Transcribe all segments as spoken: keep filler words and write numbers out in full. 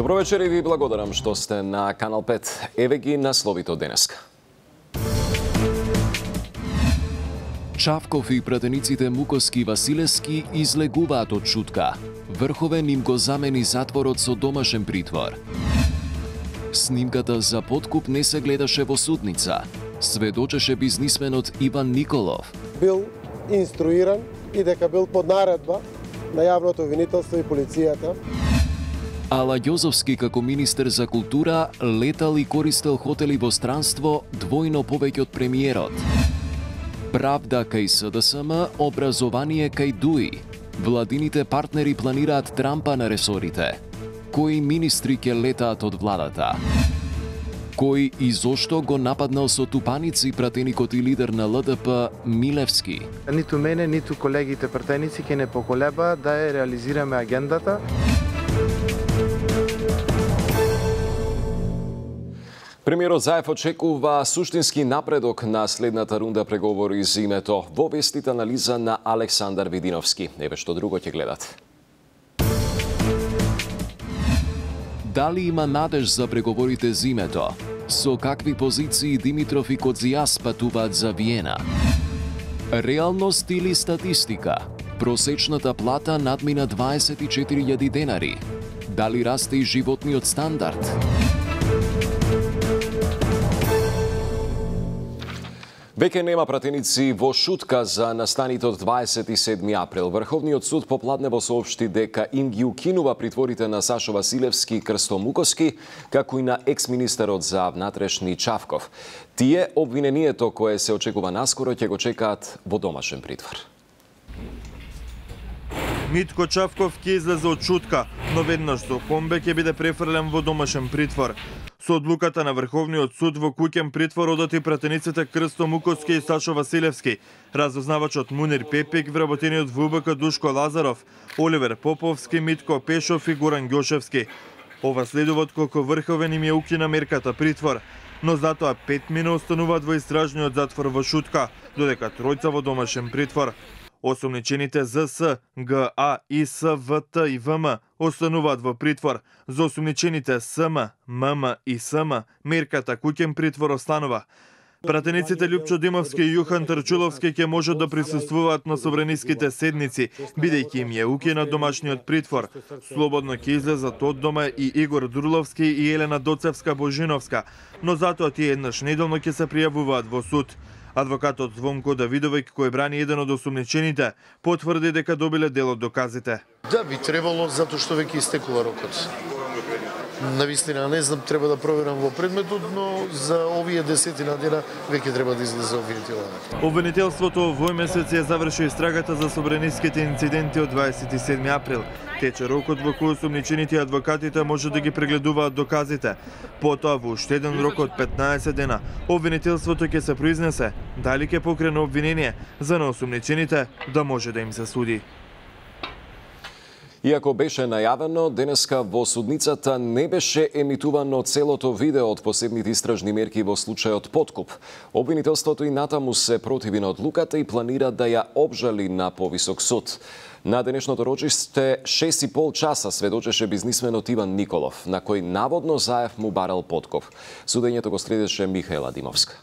Добро вечер и ви благодарам што сте на Канал пет. Еве ги насловите од денеска. Чавков и пратениците Мукоски и Василевски излегуваат од шутка. Врховен им го замени затворот со домашен притвор. Снимката за подкуп не се гледаше во судница. Сведочеше бизнисменот Иван Николов. Бил инструиран и дека бил под наредба на јавното обвинителство и полицијата. Ала Јозовски како министер за култура летал и користел хотели во странство двојно повеќе од премиерот. Правда кај С Д С М, образование кај ДУИ. Владините партнери планираат трампа на ресорите. Кои министри ќе летаат од владата? Кој и зошто го нападнал со тупаници пратеникот и лидер на Л Д П Милевски? Ниту мене, ниту колегите пратеници ќе не поколеба да ја реализираме агендата. Премиерот Заев очекува суштински напредок на следната рунда преговори за името во вестите анализа на Александар Видиновски. Еве што друго ќе гледате. Дали има надеж за преговорите за името? Со какви позиции Димитров и Кодзијас патуваат за Виена? Реалност или статистика? Просечната плата надмина дваесет и четири илјади денари. Дали расте и животниот стандард? Веќе нема пратеници во шутка за настаните од дваесет и седми април. Врховниот суд попладнево соопшти дека им ги укинува притворите на Сашо Василевски и Крсто Мукоски, како и на екс-министерот за внатрешни Чавков. Тие обвинението кое се очекува наскоро ќе го чекаат во домашен притвор. Митко Чавков ќе излезе од шутка, но веднаш со комбе ќе биде префрлен во домашен притвор. Со одлуката на Врховниот суд во куќен притвор одати пратениците Крсто Мукоски и Сашо Василевски, разузнавачот Мунир Пепик, вработениот во У Б К Душко Лазаров, Оливер Поповски, Митко Пешов и Горан Ѓошевски. Ова следува отколку Врховен им ја укина мерката притвор, но затоа пет мина остануваат во истражниот затвор во шутка, додека тројца во домашен притвор. Осумничените З С, Г А, И С, В Т и В М остануваат во притвор. За осумничените С М, М М и С М мерката куќен притвор останува. Пратениците Љупчо Димовски и Јухан Трчуловски ќе можат да присуствуваат на собраниските седници, бидејќи им ја укина домашниот притвор. Слободно ќе излезат од дома и Игор Дурловски и Елена Доцевска Божиновска, но затоа тие еднаш неделно ќе се пријавуваат во суд. Адвокатот Звонко Давидовиќ, кој брани еден од осумничените, потврди дека добиле дел од доказите. Да, би требало, затоа што веќе истекува рокот. Навистина, не знам, треба да проверам во предметот, но за овие десетина дена веќе треба да излезе обвинителот. Обвинителството овој месец ја заврши истрагата за собраниските инциденти од дваесет и седми април. Тече рокот во кој осумничените и адвокатите може да ги прегледуваат доказите. Потоа во уште еден рок од петнаесет дена, обвинителството ќе се произнесе дали ќе покрене обвинение за на осумничените да може да им се суди. Иако беше најавено, денеска во судницата не беше емитувано целото видео од посебните истражни мерки во случајот подкуп. Обвинителството и натаму се противи на одлуката и планира да ја обжали на повисок суд. На денешното рочиште шест и пол часа сведочеше бизнисменот Иван Николов, на кој наводно Заев му барал подкуп. Судењето го следеше Михаела Димовска.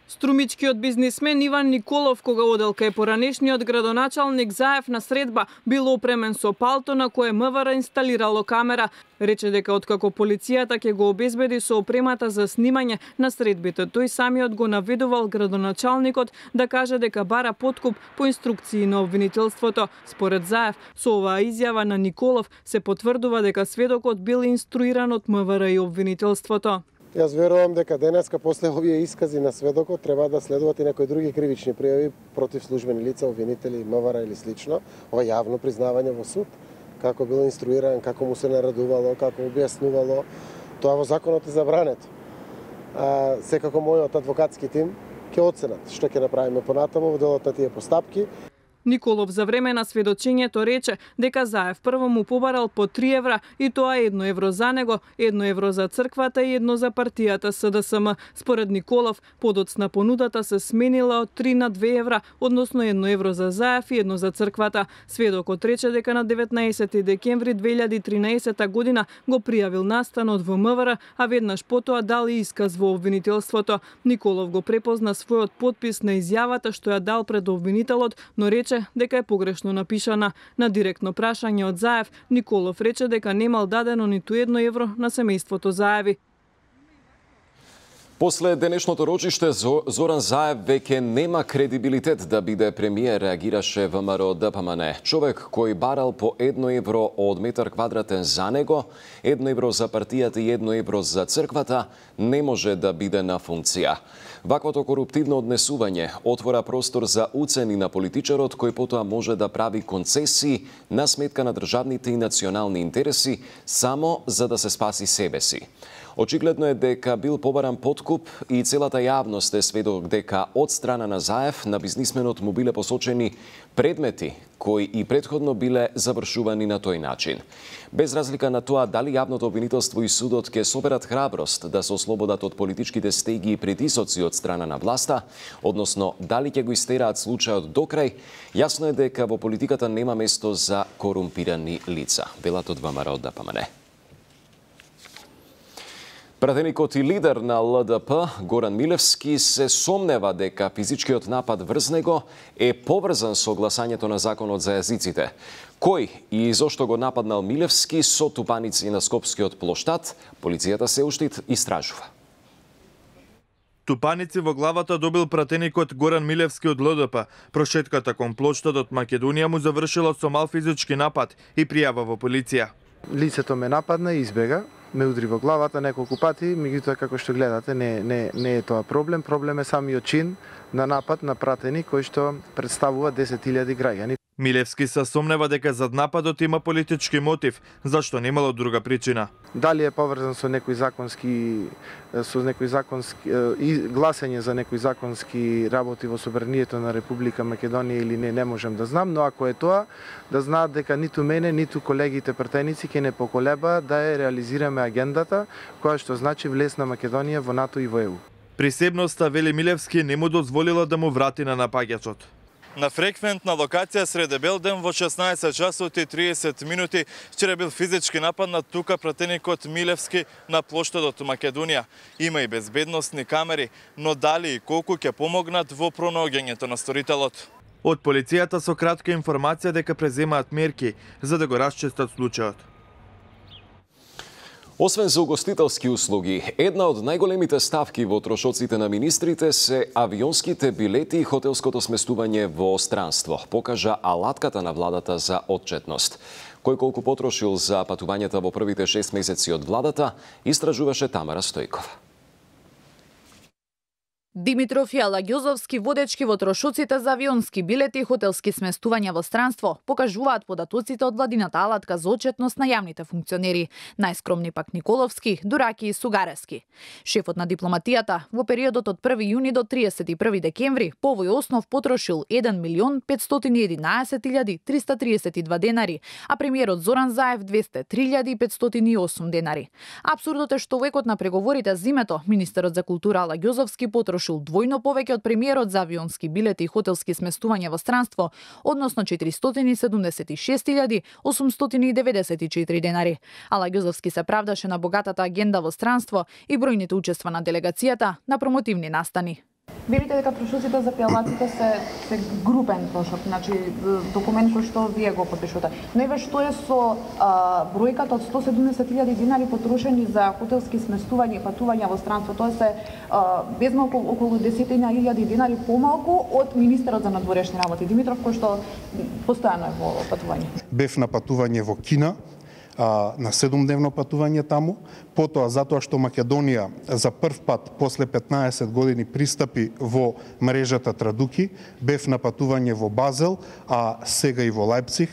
Струмичкиот бизнисмен Иван Николов, кога одел кај поранешниот градоначалник Заев на средба, бил опремен со палто на кое М В Р инсталирало камера. Рече дека откако полицијата ќе го обезбеди со опремата за снимање на средбите, тој самиот го наведувал градоначалникот да каже дека бара подкуп по инструкции на обвинителството. Според Заев, со оваа изјава на Николов се потврдува дека сведокот бил инструиран од М В Р и обвинителството. Јас верувам дека денеска после овие искази на сведокот треба да следуваат и некои други кривични пријави против службени лица, обвинители, М В Р или слично. Ова јавно признавање во суд, како бил инструиран, како му се наредувало, како објаснувало. Тоа во законот е забрането. А, секако мојот адвокатски тим ќе оценат што ќе направиме понатаму во делот на тие постапки. Николов за време на сведочењето рече дека Заев прво му побарал по три евра и тоа едно евро за него, едно евро за црквата и едно за партијата С Д С М. Според Николов, подоцна понудата се сменила од три на две евра, односно едно евро за Заев и едно за црквата. Сведокот рече дека на деветнаесети декември две илјади и тринаесета година го пријавил настанот во М В Р, а веднаш потоа дал и исказ во обвинителството. Николов го препозна својот подпис на изјавата што ја дал пред обвинителот, но рече дека е погрешно напишана. На директно прашање од Заев, Николов рече дека немал дадено ниту едно евро на семејството Заеви. После денешното рочиште, Зоран Заев веќе нема кредибилитет да биде премиер, реагираше ВМРО Д П М Н. Човек кој барал по едно евро од метар квадратен за него, едно евро за партијата и едно евро за црквата, не може да биде на функција. Ваквото коруптивно однесување отвора простор за уцени на политичарот кој потоа може да прави концесии на сметка на државните и национални интереси само за да се спаси себе си. Очигледно е дека бил побаран подкуп и целата јавност е сведок дека од страна на Заев на бизнисменот му биле посочени предмети кои и претходно биле завршувани на тој начин. Без разлика на тоа дали јавното обвинителство и судот ќе соберат храброст да се ослободат од политичките стеги и притисоци од страна на власта, односно дали ќе го истераат случајот до крај, јасно е дека во политиката нема место за корумпирани лица, велат од ВМРО Д П М Н. Пратеникот и лидер на Л Д П, Горан Милевски, се сомнева дека физичкиот напад врз него е поврзан со гласањето на законот за јазиците. Кој и зошто го нападнал Милевски со тупаници на Скопскиот плоштад, полицијата се уште истражува. Тупаници во главата добил пратеникот Горан Милевски од Л Д П. Прошетката кон плоштадот Македонија му завршила со мал физички напад и пријава во полиција. Лицето ме нападна и избега, ме удри во главата неколку пати, меѓутоа како што гледате не, не, не е тоа проблем, проблем е самиот чин на напад на пратеник кој што представува десет илјади граѓани. Милевски се сомнева дека зад нападот има политички мотив, зашто немало друга причина. Дали е поврзан со некои законски со некои законски и гласање за некои законски работи во собранието на Република Македонија или не, не можем да знам, но ако е тоа, да знаат дека ниту мене, ниту колегите пратеници ќе не поколеба да ја реализираме агендата која што значи влез на Македонија во НАТО и во Е У. Присебноста, вели Милевски, не му дозволила да му врати на напаѓачот. На фреквентна локација среде бел ден во шеснаесет часот и триесет минути вчера бил физички нападнат тука пратеникот Милевски на плоштадот Македонија. Има и безбедносни камери, но дали и колку ќе помогнат во пронаоѓањето на сторителот. Од полицијата со кратка информација дека преземаат мерки за да го расчистат случајот. Освен за угостителски услуги, една од најголемите ставки во трошоците на министрите се авионските билети и хотелското сместување во странство, покажа алатката на владата за отчетност. Кој колку потрошил за патувањата во првите шест месеци од владата, истражуваше Тамара Стојкова. Димитров и Алагјозовски, водечки во трошоците за авионски билети и хотелски сместувања во странство, покажуваат податоците од владината алатка за отчетност на јавните функционери. Најскромни пак Николовски, Дураки и Сугарески. Шефот на дипломатијата во периодот од први јуни до триесет и први декември по овој основ потрошил еден милион петстотини и единаесет илјади триста тридесет и два денари, а премиерот Зоран Заев двесте и три илјади петстотини и осум денари. Апсурдот е што векот на преговорите зимето, министерот за култура Алагјозовски потрошил двојно повеќе од премиерот за авионски билети и хотелски сместувања во странство, односно четиристотини и седумдесет и шест илјади осумстотини и деветдесет и четири денари. Алагјозовски се правдаше на богатата агенда во странство и бројните учества на делегацијата на промотивни настани. Верите дека трошоците за пијалаците се, се групен трошок, значи документ кој што вие го подпишувате. Но еве што е со а, бројката од сто и седумдесет илјади динари потрошени за хотелски сместувања и патувања во странство, тоа се а, без малку околу десетина илјади динари помалку од министерот за надворешни работи Димитров, кој што постојано е во патување. Бев на патување во Кина, на седумдневно патување таму, потоа затоа што Македонија за прв пат после петнаесет години пристапи во мрежата Традуки, бев на патување во Базел, а сега и во Лајпциг.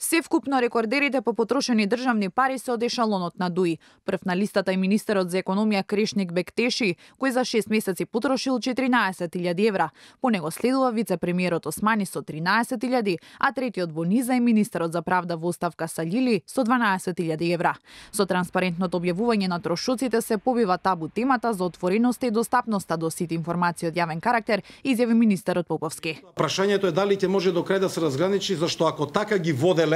Севкупно рекордерите по потрошени државни пари се од ешалонот на ДУИ. Прв на листата е министерот за економија Крешник Бектеши, кој за шест месеци потрошил четиринаесет илјади евра. По него следува вице-премиерот Османи со тринаесет илјади, а третиот во низа е министерот за правда во оставка Салили со дванаесет илјади евра. Со транспарентното објавување на трошоците се побива табу темата за отвореноста и достапноста до сите информации од јавен карактер, изјави министерот Поповски. Прашањето е дали ќе може до крај да се разграничи, зашто ако така ги воделе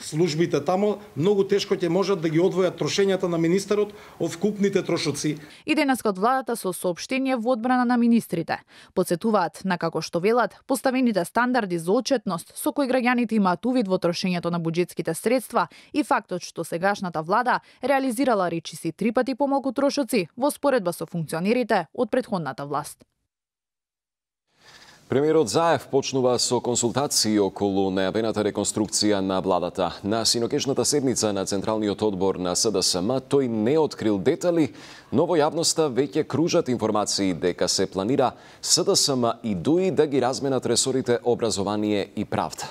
службите тамо, многу тешко ќе можат да ги одвојат трошењата на министерот од вкупните трошоци. И денеска од владата со соопштение во одбрана на министрите. Подсетуваат на како што велат поставените стандарди за отчетност со кои граѓаните имаат увид во трошењето на буџетските средства и фактот што сегашната влада реализирала речиси три пати помалку трошоци во споредба со функционерите од претходната власт. Премиерот Заев почнува со консултации околу најавената реконструкција на владата. На синокешната седница на Централниот одбор на СДСМ тој не открил детали, но во јавноста веќе кружат информации дека се планира СДСМ и ДУИ да ги разменат ресорите образование и правда.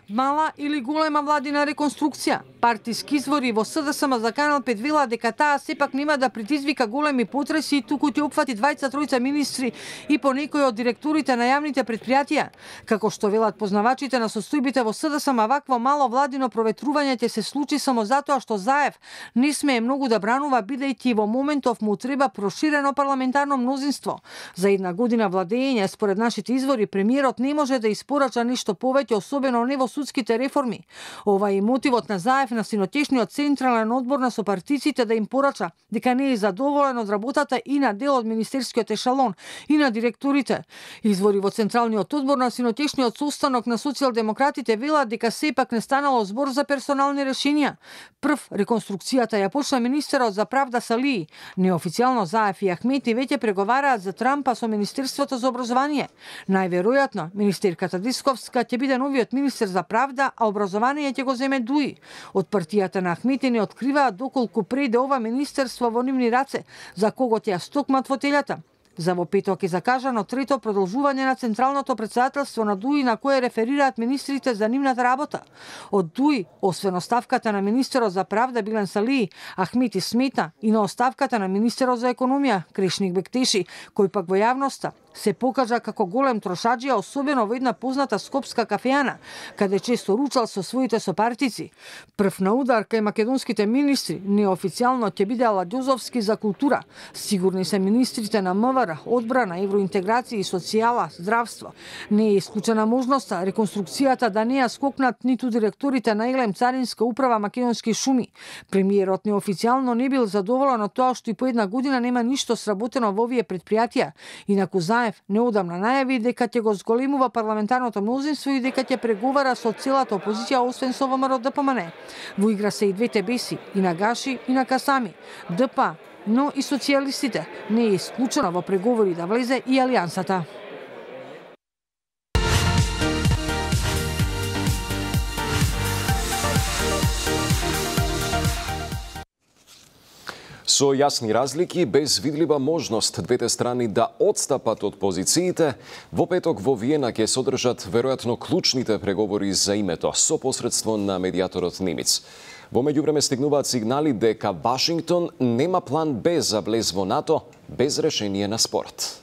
Мала или голема владина реконструкција. Партиски извори во СДСМ за Канал пет вела дека таа сепак нема да предизвика големи потреси, туку ќе опфати двајца тројца министри и по некои од директорите на јавните предпријатија. Како што велат познавачите на состојбите во СДСМ, вакво мало владино проветрување ќе се случи само затоа што Заев не смее многу да бранува, бидејќи во моментов му треба проширено парламентарно мнозинство. За една година владење, според нашите извори, премиерот не може да испорача ништо повеќе, особено не во судските реформи. Ова е мотивот на Заев на синотешниот централен одбор на сопартиците да им порача дека не е задоволен од работата и на дел од министерскиот ешалон и на директорите. Извори во централниот одбор на синотешниот состанок на социјалдемократите велат дека сепак не станало збор за персонални решенија. Прв реконструкцијата ја почна министерот за правда Салии. Неофицијално Заев и Ахмети веќе преговараат за Трампа со Министерството за образование. Најверојатно министерката Дисковска ќе биде новиот министер за правда, а образование ќе го земе ДУИ. Од партијата на Ахмети не откриваат доколку преде ова министерство во нивни раце, за кого ќе ја стокмат фотелјата. За во петок е закажано трето продолжување на Централното претседателство на ДУИ на кое реферираат министрите за нивната работа. Од ДУИ, освен оставката на министерот за правда Билен Салии, Ахмети смета и на оставката на министерот за економија Крешник Бектеши, кој пак во јавноста се покажа како голем трошаџија, особено во една позната скопска кафеана, каде често ручал со своите сопартици. Прв на удар кај македонските министри неофицијално ќе биде Аладјозовски за култура. Сигурни се министрите на МВР, одбрана, евроинтеграција и социјала, здравство. Не е исклучена можноста реконструкцијата да не ја скокнат ниту директорите на Елем Царинска управа Македонски шуми. Премиерот неофицијално не бил задоволен од тоа што и по една година нема ништо сработено во овие предпријатија. Инаку Заев неодамна најави дека ќе го зголемува парламентарното мнозинство и дека ќе преговара со целата опозиција, освен со ВМРО Д П М Н. Во игра се и двете беси, и на Гаши, и на Касами. Д П, но и социјалистите. Не е исклучено во преговори да влезе и Алијансата. Со јасни разлики, без видлива можност двете страни да одстапат од позициите, во петок во Виена ќе содржат веројатно клучните преговори за името со посредство на медијаторот Немец. Во меѓувреме стигнуваат сигнали дека Вашингтон нема план Б за влез во НАТО без решение на спорот.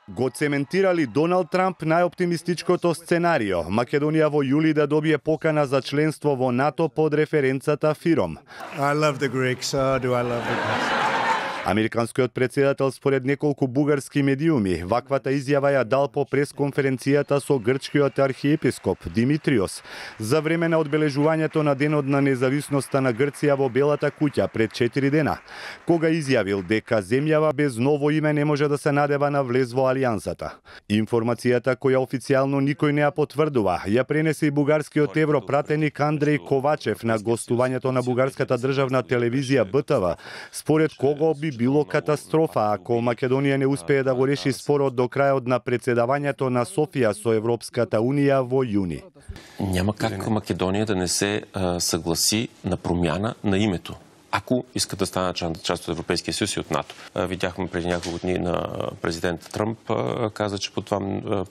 Го цементирали Доналд Трамп најоптимистичкото сценарио. Македонија во јули да добие покана за членство во НАТО под референцата ФИРОМ. I love the Greeks, so do I love the Greeks. Американскиот претседател според неколку бугарски медиуми ваквата изјава ја дал по пресконференцијата со грчкиот архиепископ Димитриос за време на одбележувањето на денот на независноста на Грција во Белата куќа пред четири дена, кога изјавил дека земјава без ново име не може да се надева на влез во Алијансата. Информацијата која официјално никој не ја потврдува, ја пренесе и бугарскиот европратеник Андреј Ковачев на гостувањето на бугарската државна телевизија Б Т В, според кого би било катастрофа ако Македонија не успее да го реши спорот до крајот на председавањето на Софија со Европската унија во јуни. Няма как Македонија да не се а, согласи на промјана на името. ако искат да станат част от Европейския съюз и от НАТО. Видяхме преди няколко дни на президент Тръмп каза, че под, това,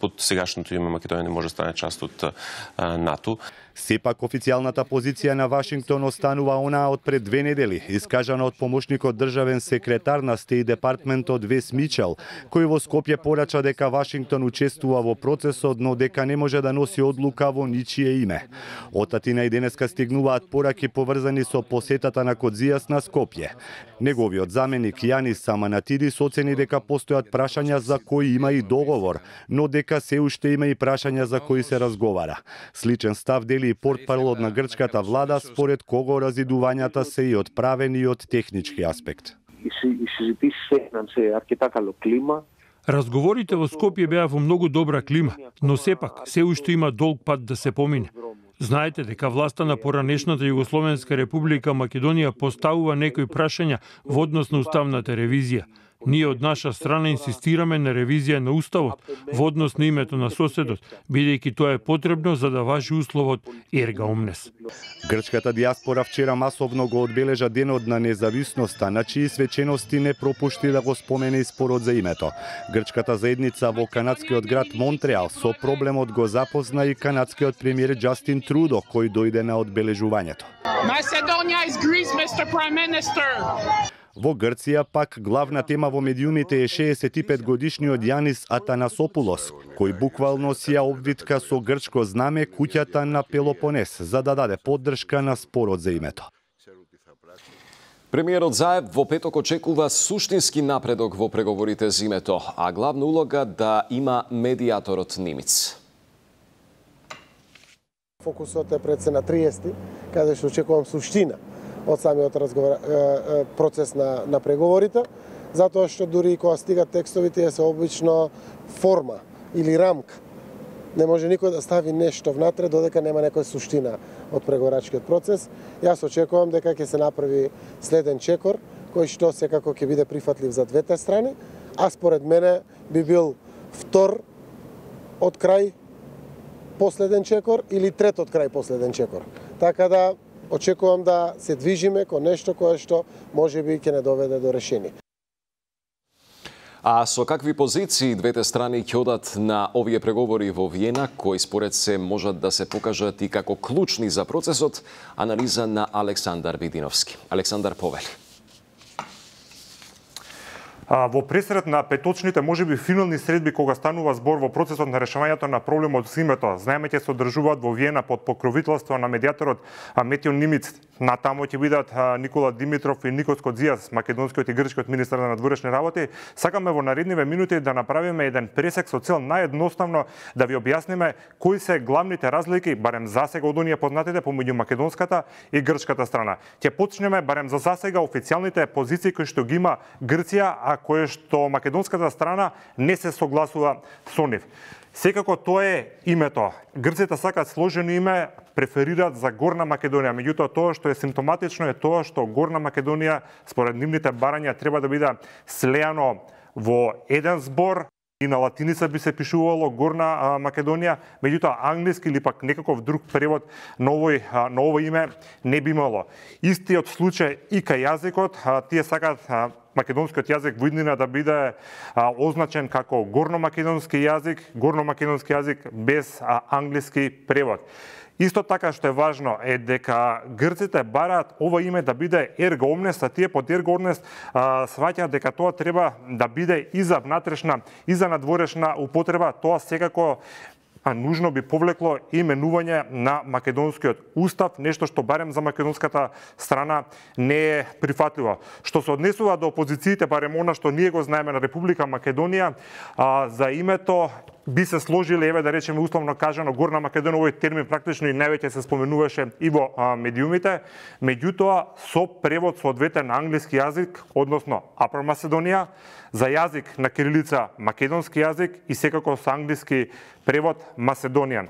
под сегашното име Македония не може да стане част от НАТО. Сепак официјалната позиција на Вашингтон останува онаа од пред две недели, искажана од помошникот државен секретар на Стејт Департментот Вес Мичел, кој во Скопје порача дека Вашингтон учествува во процесот, но дека не може да носи одлука во ничие име. Од Атина и денеска стигнуваат пораки поврзани со посетата на Кодзијас на Скопје. Неговиот заменик Јанис Саманатидис оцени дека постојат прашања за кои има и договор, но дека се уште има и прашања за кои се разговара. Сличен став дели и портпаролот на грчката влада, според кого разидувањата се и од правен и од технички аспект. Разговорите во Скопје беа во многу добра клима, но сепак се уште има долг пат да се помине. Знаете дека власта на поранешната Југословенска република Македонија поставува некои прашања во однос на уставната ревизија. Ние од наша страна инсистираме на ревизија на уставот во однос на името на соседот, бидејќи тоа е потребно за да важи условот ерга омнес. Грчката диаспора вчера масовно го одбележа денот на независноста, на чии свечености не пропушти да го спомене и спорот за името. Грчката заедница во канадскиот град Монтреал со проблемот го запозна и канадскиот премиер Џастин Трудо, кој дојде на одбележувањето. Macedonia is Greece, мистер Prime Minister. Во Грција пак главна тема во медиумите е шеесет и пет годишниот Јанис Атанасопулос, кој буквално сија обвитка со грчко знаме куќата на Пелопонес за да даде поддршка на спорот за името. Премиерот Заев во петок очекува суштински напредок во преговорите за името, а главна улога да има медиаторот Нимиц. Фокусот е пред се на триесети, каде што очекувам суштина од самиот разговор, процес на, на преговорите, затоа што дури и кога стигат текстовите се обично форма или рамка. Не може никој да стави нешто внатре додека нема некоја суштина од преговорачкиот процес. Јас очекувам дека ќе се направи следен чекор, кој што секако ќе биде прифатлив за двете страни, а според мене би бил втор од крај последен чекор или трет од крај последен чекор. Така да очекувам да се движиме кон нешто кое што можеби ќе не доведе до решение. А со какви позиции двете страни ќе одат на овие преговори во Виена, кои според се можат да се покажат и како клучни за процесот, анализа на Александар Видиновски. Александар повели. Во пресред на петочните можеби финални средби кога станува збор во процесот на решавањето на проблемот со името, знаеме ќе се одржуваат во Виена под покровителство на медиаторот Метјо Нимиц. Натамо ќе бидат Никола Димитров и Никос Кодзијас, македонскиот и грчкиот министер на надворешни работи. Сакаме во наредниве минути да направиме еден пресек со цел наједноставно да ви објасниме кои се главните разлики, барем засега од оние познатите помеѓу македонската и грчката страна. Ќе почнеме барем за засега официјалните позиции кои што ги има Грција, а кое што македонската страна не се согласува со нив. Секако тоа е името. Грците сакаат сложено име, преферираат за Горна Македонија, меѓутоа тоа што е симптоматично е тоа што Горна Македонија според нивните барања треба да биде слеано во еден збор. И на латиница би се пишувало Горна Македонија, меѓутоа англиски или пак некаков друг превод на овој, на овој име не би имало. Истиот случај и кај јазикот, тие сакаат македонскиот јазик во иднина да биде а, означен како горномакедонски јазик, горномакедонски јазик без а, англиски превод. Исто така што е важно е дека грците бараат ова име да биде ерго омнес, а тие под ерго омнес сваќаат дека тоа треба да биде и за внатрешна и за надворешна употреба. Тоа секако а нужно би повлекло именување на македонскиот устав, нешто што барем за македонската страна не е прифатливо. Што се однесува до опозициите, барем она што ние го знаеме на Република Македонија, а, за името би се сложиле, еве да речеме условно кажано, Горна Македонија, овој термин практично и највеќе се споменуваше и во а, медиумите, меѓутоа со превод соодветен на англиски јазик, односно Upper Macedоnia, за јазик на кирилица македонски јазик и секако со англиски превод Macedonian.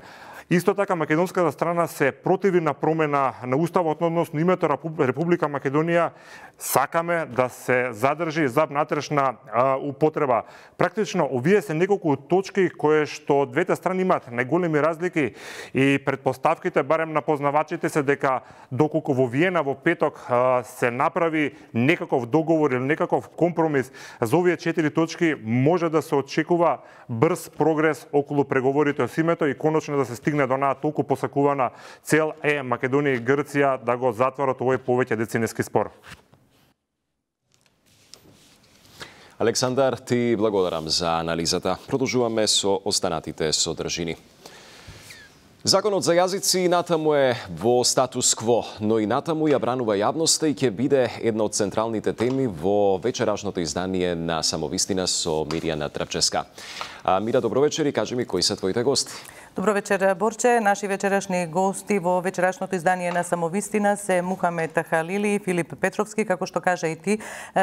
Исто така, македонската страна се противи на промена на уставот, односно името Република Македонија сакаме да се задржи за внатрешна а, употреба. Практично, овие се неколку точки кои што двете страни имаат најголеми разлики и предпоставките, барем на познавачите, се дека доколку во Виена во петок а, се направи некаков договор или некаков компромис за овие четири точки, може да се очекува брз прогрес околу преговорите со името и конечно да се стигне до онаа толку посакувана цел е Македонија и Грција да го затворат овој повеќе деценески спор. Александар, ти благодарам за анализата. Продолжуваме со останатите содржини. Законот за јазици и натаму е во статус кво, но и натаму ја бранува јавноста и ќе биде една од централните теми во вечерашното издание на Самовистина со Мирјана Трпческа. А, Мира, добро вечер и кажи ми кои се твоите гости. Добро вечер, Борче. Наши вечерашни гости во вечерашното издание на Самовистина се Мухамед Халили и Филип Петровски. Како што кажа и ти,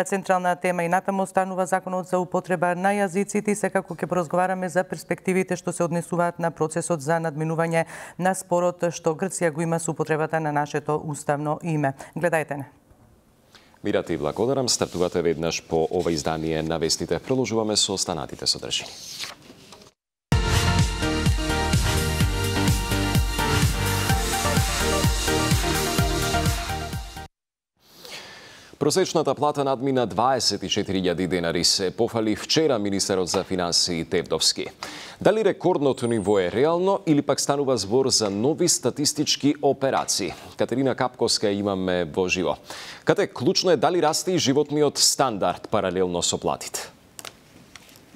централна тема и натаму станува законот за употреба на јазиците и секако ќе поразговараме за перспективите што се однесуваат на процесот за надминување на спорот што Грција го има со употребата на нашето уставно име. Гледајте не. Мира, ти благодарам. Стартувате веднаш по ова издание на вестите. Продолжуваме со останатите содржини. Просечната плата надмина дваесет и четири илјади денари, се пофали вчера министерот за финансии Тевдовски. Дали рекордното ниво е реално или пак станува збор за нови статистички операции? Катерина Капковска имаме во живо. Кате, клучно е дали расте и животниот стандард паралелно со платите?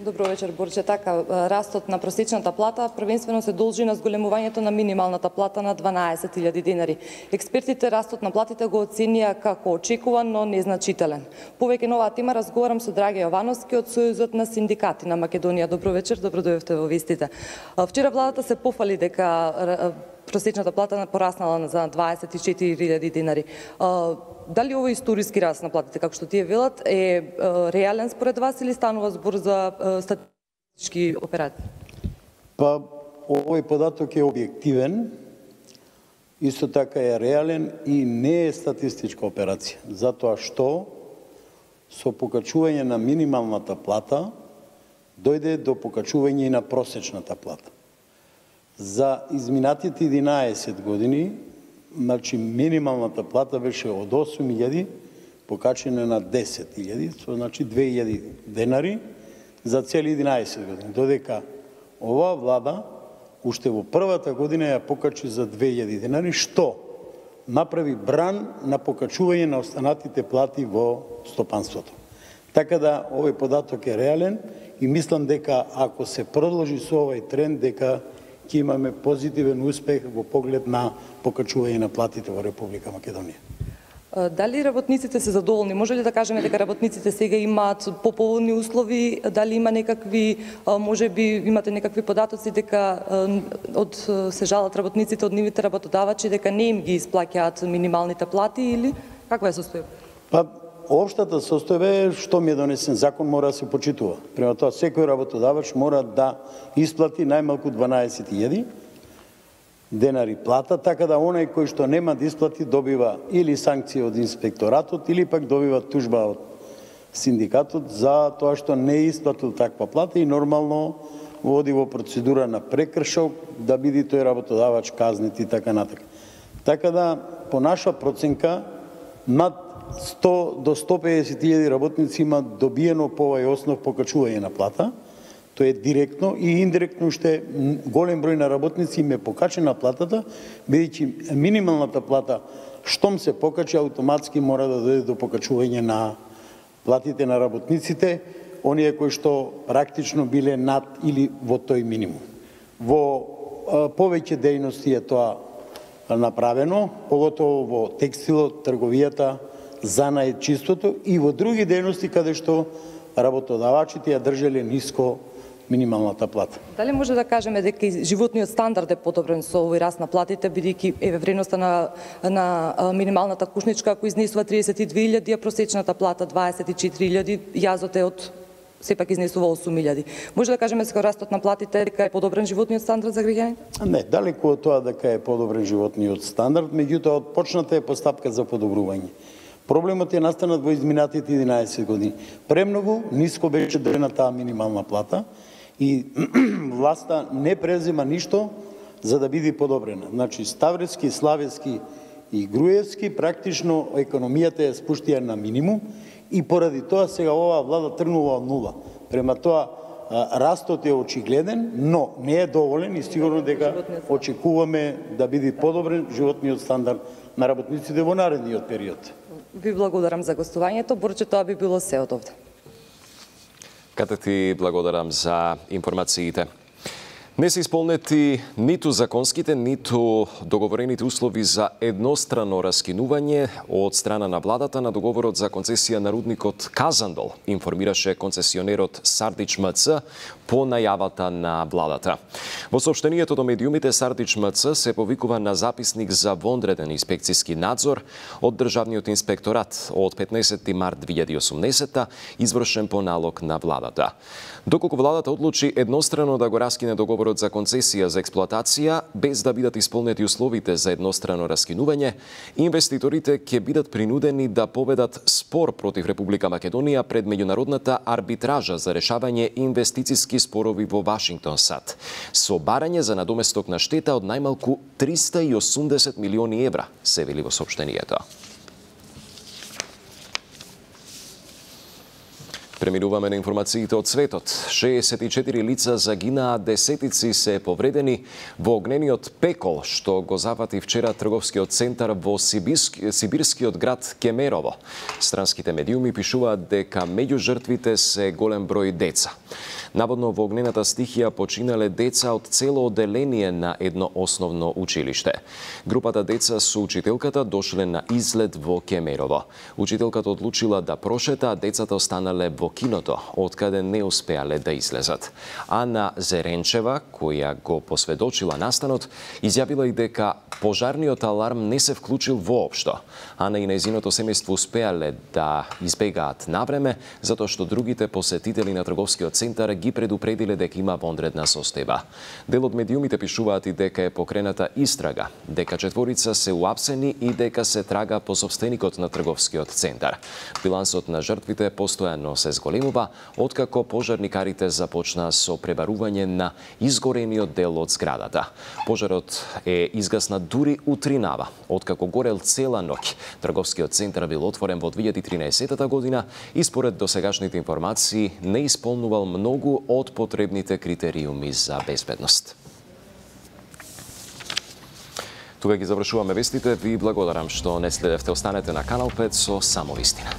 Добро вечер, Борче. Така, растот на просечната плата првенствено се должи на зголемувањето на минималната плата на дванаесет илјади денари. Експертите растот на платите го оценија како очекуван, но незначителен. Повеќе на оваа тема разговарам со Драге Јовановски од Сојузот на синдикати на Македонија. Добро вечер, добро дојдовте во вестите. Вчера владата се пофали дека просечната плата пораснала за дваесет и четири илјади денари. Дали овој историски раст на платите, како што тие велат, е реален според вас или станува збор за статистички операции? Па, овој податок е објективен, исто така е реален и не е статистичка операција, затоа што со покачување на минималната плата дојде до покачување и на просечната плата. За изминатите единаесет години, значи минималната плата беше од осум илјади покачена на десет илјади, со значи две илјади денари за цели единаесет години. Додека оваа влада уште во првата година ја покачи за две илјади денари, што направи бран на покачување на останатите плати во стопанството. Така да овој податок е реален и мислам дека ако се продолжи со овој тренд, дека ќе имаме позитивен успех во поглед на покачување на платите во Република Македонија. Дали работниците се задоволни? Може ли да кажеме дека работниците сега имаат поповолни услови? Дали има некакви, може би имате некакви податоци дека од се жалат работниците од нивните работодавачи дека не им ги исплаќаат минималните плати или каква е состојба? Па, Обштата состојба е што ми е донесен закон мора да се почитува. Према тоа секој работодавач мора да исплати најмалку дванаесет илјади денари плата, така да оној кој што нема да исплати добива или санкција од инспекторатот или пак добива тужба од синдикатот за тоа што не е исплатил таква плата и нормално води во процедура на прекршок да биде тој работодавач казнет и така натака. Така да по наша проценка над сто до сто педесет илјади работници има добиено по овој основ покачување на плата. Тоа е директно и индиректно уште голем број на работници им е покачена платата, бидејќи минималната плата штом се покачи автоматски мора да дојде до покачување на платите на работниците, оние кои што практично биле над или во тој минимум. Во повеќе дејности е тоа направено, поготово во текстилот, трговијата, занаетчиството и во други дејности каде што работодавачите ја држеле ниско минималната плата. Дали може да кажеме дека животниот стандард е подобрен со овој раст на платите, бидејќи еве вредноста на на минималната кушничка ако изнесува триесет и две илјади, а просечната плата дваесет и четири илјади, јазот е од сепак изнесува осум илјади. Може да кажеме дека растот на платите дека е подобрен животниот стандард за граѓаните? Не, далеку од тоа дека е подобрен животниот стандард, меѓутоа почната е постапка за подобрување. Проблемот е настанат во изминатите единаесет години. Премногу ниско беше држана таа минимална плата и власта не презема ништо за да биде подобрена. Значи Ставрески, Славески и Груевски практично економијата е спуштија на минимум и поради тоа сега оваа влада тргнува од нула. Према тоа растот е очигледен, но не е доволен и сигурно дека очекуваме да биде подобрен животниот стандард на работниците во наредниот период. Ви благодарам за гостувањето, Борче, тоа би било се од овде. Кате ти благодарам за информациите. Не се исполнети ниту законските, ниту договорените услови за еднострано раскинување од страна на владата на договорот за концесија на рудникот Казандол, информираше концесионерот Сардич МЦ по најавата на владата. Во соопштението до медиумите Сардич МЦ се повикува на записник за вонреден инспекциски надзор од Државниот инспекторат од петнаесети март две илјади и осумнесета, извршен по налог на владата. Доколку владата одлучи еднострано да го раскине договорот за концесија за експлоатација, без да бидат исполнети условите за еднострано раскинување, инвеститорите ќе бидат принудени да поведат спор против Република Македонија пред меѓународната арбитража за решавање инвестициски спорови во Вашингтон САД, со барање за надоместок на штета од најмалку триста и осумдесет милиони евра, се вели во соопштението. Преминуваме на информациите од светот. шеесет и четири лица загинаа, десетици се повредени во огнениот пекол што го зафати вчера трговскиот центар во Сибирски, сибирскиот град Кемерово. Странските медиуми пишуваат дека меѓу жртвите се голем број деца. Наводно во огнената стихија починале деца од цело оделение на едно основно училиште. Групата деца со учителката дошле на излет во Кемерово. Учителката одлучила да прошета, а децата останале во киното, откаде не успеале да излезат. Ана Зеренчева, која го посведочила настанот, изјавила и дека пожарниот аларм не се вклучил воопшто. Ана и нејзиното семејство успеале да избегаат навреме, затоа што другите посетители на трговскиот центар ги предупредиле дека има вонредна состојба. Дел од медиумите пишуваат и дека е покрената истрага, дека четворица се уапсени и дека се трага по собственикот на трговскиот центар. Билансот на жртвите постојано се зголемува, откако пожарникарите започнаа со пребарување на изгорениот дел од зградата. Пожарот е изгаснат дури утринава, откако горел цела ноќ. Трговскиот центар бил отворен во две илјади и тринаесета година и според досегашните информации не исполнувал многу од потребните критериуми за безбедност. Тука ги завршуваме вестите. Ви благодарам што не следевте. Останете на Канал пет со само вистина.